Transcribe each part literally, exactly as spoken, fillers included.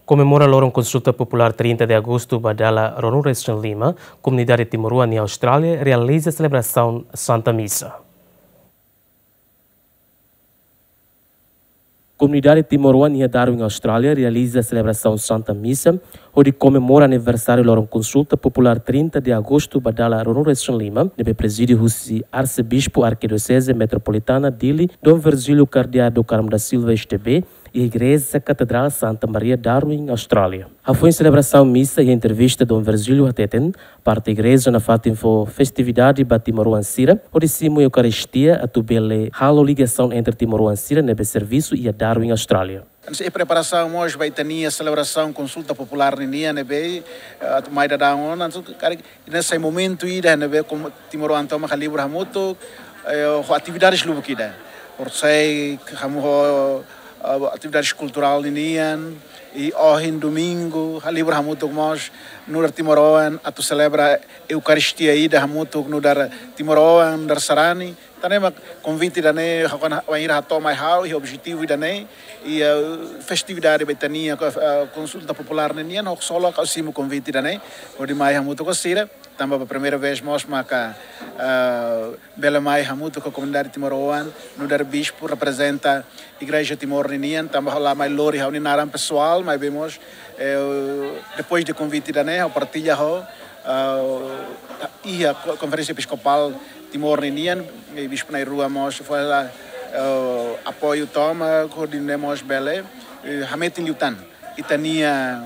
Komemora loron Konsulta Populár trinta de Agostu ba dala ruanulu-resin-lima, komunidade timoroan iha Austrália realiza selebrasaun Santa Misa. Komunidade timoroan iha Darwin, Austrália realiza selebrasaun Santa Misa, hodi komemora aniversáriu loron Konsulta Populár trinta de Agostu ba dala ruanulu-resin-lima, ne'ebé prezide husi Arsebispu Arkidioseze Metropolitana Dili, Dom Virgílio Cardeal do Carmo da Silva S D B, iha Igreja Katedrál Santa Maria Darwin, Austrália. Hafoin selebrasaun misa iha entrevista Dom Virgílio hateten, parte igreja nafatin fó festividade ba timoroan sira, hodi simu Eukaristia atu bele halo ligasaun entre timoroan sira ne'ebé servisu iha Darwin, Austrália. Entaun, iha preparasaun mós ba ita-nia selebrasaun Konsulta Populár ninian ne'ebé, eh, atu mai daudaun ona, entaun, karik, ida-ne'e sai momentu ida ne'ebé komu-, timoroan tomak halibur hamutuk, eh, ho atividades lubuk ida. Horisehik, hamu ho, eh, atividades kulturál ninian, i ohin domingu, halibur hamutuk mós, nu'udar timoroan, atu selebra Eukaristia ida hamutuk, nu'udar timoroan, nu'udar sarani. Tan ne'e mak konvite ida-ne'e, ha'u hakarak, wainhira hato'o mai ha'u, i objetivu ida-ne'e, i, eh, festividade ba ita-nia, eh, Konsulta Populár ninian, ha'u ksolok ha'u simu konvite ida-ne'e, hodi mai hamutuk ho sira, tanba ba primeira vez mós maka, eh, bele mai hamutuk ho komunidade timoroan, nu'udar bispu reprezenta Igreja Timor ninian, tanba ha'u la mai lori ha'u-nia naran pesoál, maibé mós, eh, depois de konvite ida-ne'e, ha'u partilla ho, eh, iha ko-, Konferénsia Episkopál Timor ninian, eh, Bispu na'in-rua mós fó, eh, apoiu tomak, hodi nune'e mós bele, eh, hametin liután ita-nia,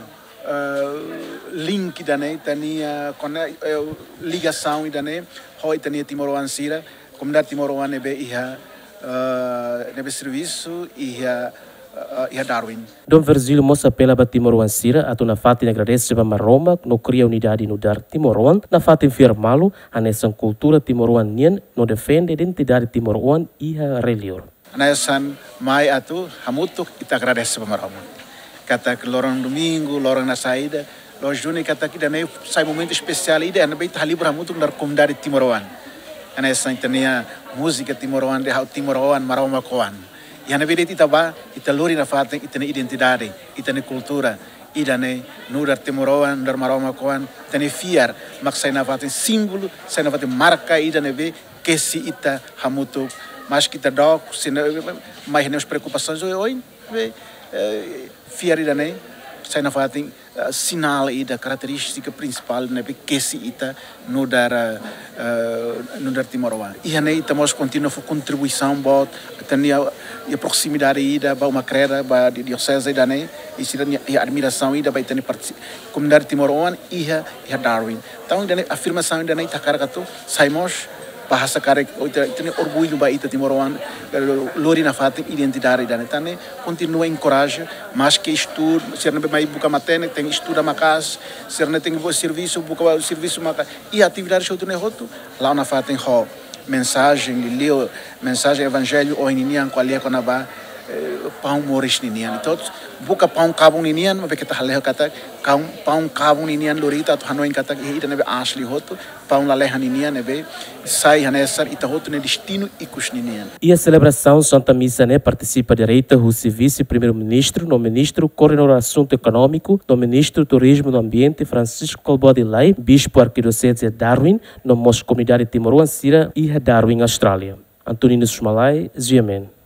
eh, link ida-ne'e, ita-nia kone-, eh, ligasaun ida-ne'e, ho ita-nia timoroan sira, komunidade timoroan ne'ebé iha, eh, ne'ebé servisu iha, eh, iha Darwin. Dom Virgílio mós apela ba timoroan sira atu nafatin agradese ba Maromak no kria unidade nu'udar timoroan, nafatin fiar malu hanesan kultura timoroan nian no defende identidade timoroan iha rai-liur. Hanesan mai atu hamutuk ita agradese ba Maromak. Katak loron domingu, loron ida saida, loos duni katak ida-ne'e sai momentu espesiál ida, ne'ebé ita halibur hamutuk nu'udar komunidade timoroan. Hanesan ita-nia múzika timoroan dehan ha'u timoroan, Maromak oan. Iha ne'ebé de'it ita bá, ita lori nafatin ita-nia identidade, ita-nia kultura, ida-ne'e nu'udar timoroan, nu'udar Maromak oan, ita-nia fiar, mak sai nafatin símbolu, sai nafatin marka ida ne'ebé kesi ita hamutuk, maski ita dook, sira-ne'e, mai ho nia preokupasaun oioin, be, eh, fiar ida-ne'e, sai nafatin, eh, sinál ida, karakterístika prinsipál ne'ebé kesi ita nu'udar, eh, nu'udar timoroan. Iha ne'e ita mós kontinua fó kontribuisaun boot, ita-nia, iha proximidade ida ba uma kreda, ba di-, dioseze ida-ne'e, i sira-nia, iha admirasaun ida ba ita-nia partisi-, komunidade timoroan iha, iha Darwin. Entaun, ida-ne'e afirmasaun ida-ne'e ita hakarak atu sai mós, bahasa karik, ita, ita-nia orgullu ba ita timoroan, eh, lori nafatin identidade ida-ne'e. Tan ne'e, kontinua enkoraja, maski estudu, sira ne'ebé mai buka matenek, tenke estuda maka'as, sira ne'ebé tenke buka servisu, buka servisu maka'as, i atividade hotu ne'e hotu, la'o nafatin ho mensajen liuliu, mensajen evanjellu ohin ninian ko'alia kona-ba, eh, paun moris ninian. Entaun, buka paun kabun ninian, maibé keta hale'u katak, kaun, paun kabun ninian lori ita atu hanoin katak, iha ida ne'ebé aas liu hotu, paun lalehan ninian ne'ebé sai hanesan ita hotu nia destinu ikus ninian. Iha selebrasaun Santa Misa ne'e partisipa direta husi Vise-Primeiru-Ministru no Ministru Koordenadór Asuntu Ekonómiku no Ministru Turizmu no Ambiente Francisco Kalbuadi Lay, Bispu Arkidioseze Darwin, no mós komunidade timoroan sira iha Darwin, Austrália. Antoninho Sumalai, G M N.